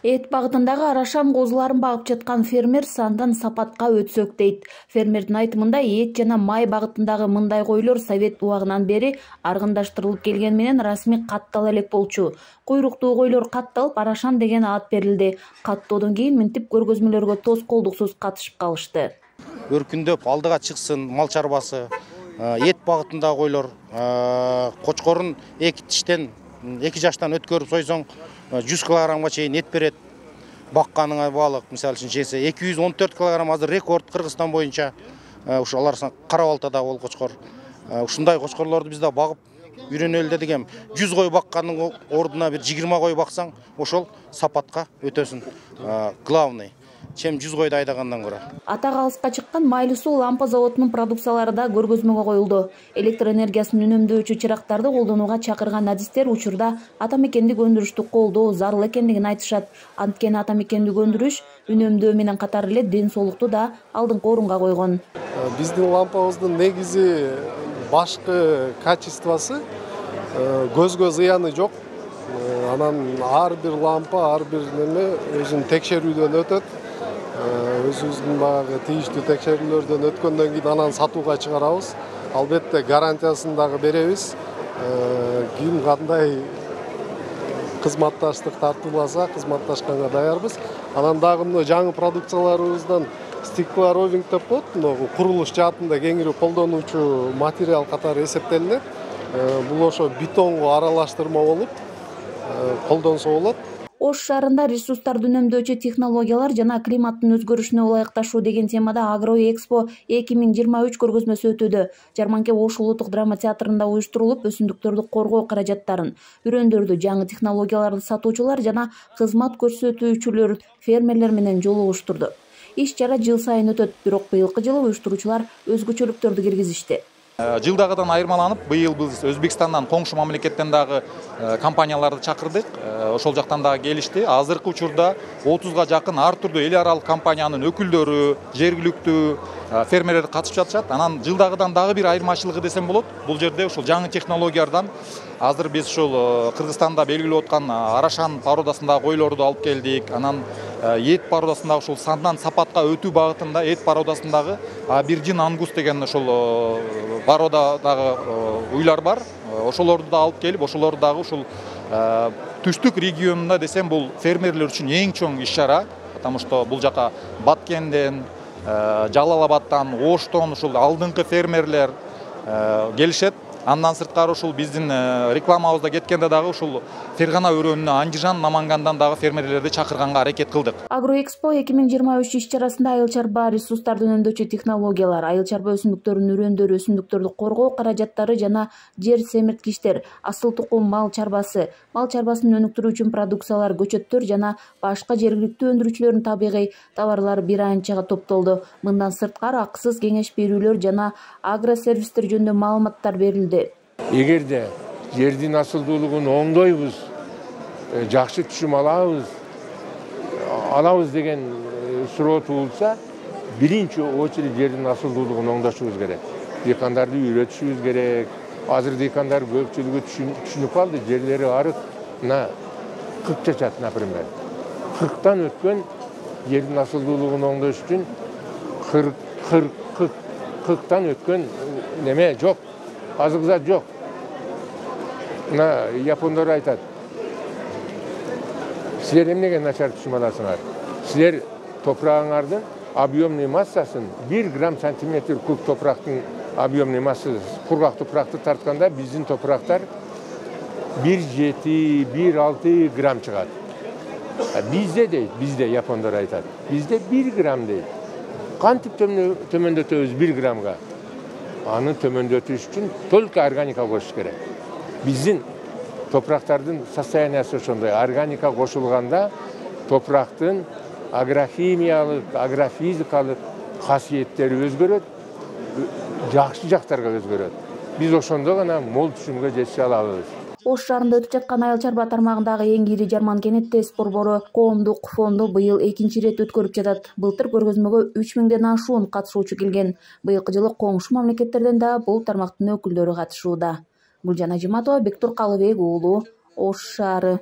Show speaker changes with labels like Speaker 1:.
Speaker 1: Эт багытындагы арашан козуларын багып жаткан фермер сандан сапатка өтсөк дейт. Фермердин айтымында эт жана май багытындагы мындай койлор совет убагынан бери аргындаштырылып келгени менен расмий каттала элек болчу. Куйруктуу койлор катталып, арашан деген ат берилди. Каттоодон кийин минтип көргөзмөлөргө тоскоолдуксуз катышып калышты.
Speaker 2: Өркүндөп алдыга чыксын мал чарбасы, эт багытындагы койлор, кочкорун 2 жаштан өткөрүп сойсоң 100 килограммга чейин эт берет. Бакканыңа баалык, мисалы үчүн жесе 214 килограмм азыр рекорд Кыргызстан боюнча. Ушу алар Кара Балтада бол кочкор. Ушундай кочкорлорду биз да багып үйрөнөлү дедик эм. 100 кой баккандын ордуна бир 20 кой баксаң, ошол сапатка өтөсүн. Главный чем 100 койду айдагандан көрө.
Speaker 1: Ата калыска чыккан Майлуу суу лампа заводунун продукциялары да көргөзмөгө коюлду. Электр энергиясын үнөмдөөчү чырактарды колдонууга чакырган адистер учурда ата мекендик өндүрүштү колдоо зарыл экендигин айтышат. Анткени ата мекендик өндүрүш үнөмдөө менен катар эле ден соолукту да алдыңкы орунга койгон.
Speaker 3: Биздин лампабыздын негизи башкы качествосы көзгө зыяны жок. Анан ар бир лампа, ар бир неме өзүнүн текшерүүдөн өтөт. Өзүбүздүн баягы тийиштүү текшерүүлөрдөн өткөндөн кийин анан сатууга чыгарабыз. Албетте гарантиясын дагы беребиз. Ким кандай кызматташтык тартууласа, кызматташканга даярбыз. Анан дагы мына жаңы продукцияларыбыздан стеклоровинг деп коет, мына курулуш жаатында кеңири колдонуучу материал катары эсептелинет. Бул ошо бетонго аралаштырма болуп колдонсо болот.
Speaker 1: Ош шаарында ресурстарды үнөмдөөчү технологиялар жана климаттын өзгөрүшүнө ылайыкташуу деген темада Агроэкспо 2023 көргөзмөсү өтүүдө. Жарманке Ош улуттук драма театрында уюштурулуп, өсүмдүктөрдү коргоо каражаттарын, үрөндөрдү, жаңы технологияларды сатуучулар жана кызмат көрсөтүүчүлөр фермерлер менен жолугуштурду. Иш-чара жыл сайын өтөт, бирок быйылкы жылы уюштуруучулар өзгөчөлүктөрдү киргизишти.
Speaker 4: Жылдагыдан айырмаланып, быйыл биз Өзбекстандан, коңшу мамлекеттен дагы компанияларды чакырдык. Ошол жактан дагы келишти. Азыркы учурда 30га жакын ар түрдүү эл аралык компаниянын өкүлдөрү, жергиликтүү фермерлер катышып жатышат. Анан жылдагыдан дагы бир айырмачылыгы десем болот. Бул жерде ушул жаңы технологиялардан азыр биз ушул Кыргызстанда белгилеп аткан арашан породасындагы койлорду алып келдик. Анан эт породасындагы ушул сандан сапатка өтүү багытында эт породасындагы Абиржин Ангус деген ушул породадагы уйлар бар. Ошолорду да алып келип, ошолорду дагы ушул түштүк регионунда десем бул фермерлер үчүн эң чоң иш-чара, потому что бул жака Баткенден, Жалал Абадтан, Оштон ушул алдыңкы фермерлер келишет. Андан сырткары ушул биздин рекламабызда кеткенде дагы ушул Фергана өрөөнүнө Андижан, Намангандан дагы фермерлерди чакырганга аракет кылдык.
Speaker 1: Агроэкспо 2023 иш-чарасында айыл чарба ресурстарды үнөмдөөчү технологиялар, айыл чарба өсүмдүктөрүнүн үрөндөрү, өсүмдүктөрдү коргоо каражаттары жана жер семирткичтер, асыл тукум мал чарбасын өнүктүрүү үчүн продукциялар, көчөттөр жана башка жергиликтүү өндүрүүчүлөрдүн табигый товарлары бир анчага топтолду. Мындан сырткары акысыз кеңеш берүүлөр жана агросервистер жөнүндө маалыматтар берилди.
Speaker 5: Эгерде жердин асылдуулугун оңдойбуз, жакшы түшүм алабыз деген суроо туулса, биринчи очередь жердин асылдуулугун оңдошубуз керек. Дыйкандарды үйрөтүшүбүз керек. Азыр дыйкандар көпчүлүгү түшүнүп калды, жерлери арык, мына кырк чачат, например. 40тан өткөн жердин асылдуулугун оңдош үчүн 40тан өткөн неме жок. Азык зат жок. Мына япондор айтат. Силер эмнеге начар түшүм аласыңар? Силер топурагыңардын объемный массасын 1 грамм сантиметр куб топурактын объемный массасы кургак топуракты тартканда биздин топурактар 1,7-1,6 грамм чыгат. Бизде дейт, бизде япондор айтат. Бизде 1 грамм дейт. Кантип төмөндөтөбүз 1 граммга? Аны төмөндөтүш үчүн только органика кошуш керек. Биздин топурактардын состояниясы ошондой. Органика кошулганда топурактын агрохимиялык, агрофизикалык касиеттери өзгөрөт, жакшы жактарга өзгөрөт. Биз ошондо гана мол түшүмгө жетише алабыз.
Speaker 1: Ош шаарында өтүп жаткан айыл чарба тармагындагы эң ири Жарман кенеттес борбору коомдук фонду быйыл 2-чи ирет өткөрүп жатат. Былтыр көргөзмөгө 3000ден ашуун катышуучу келген. Быйылкы жылы коңшу мамлекеттерден да бул тармактын өкүлдөрү катышууда. Гүлжан Ажиматова, Бектур Калыбек уулу, Ош шаары.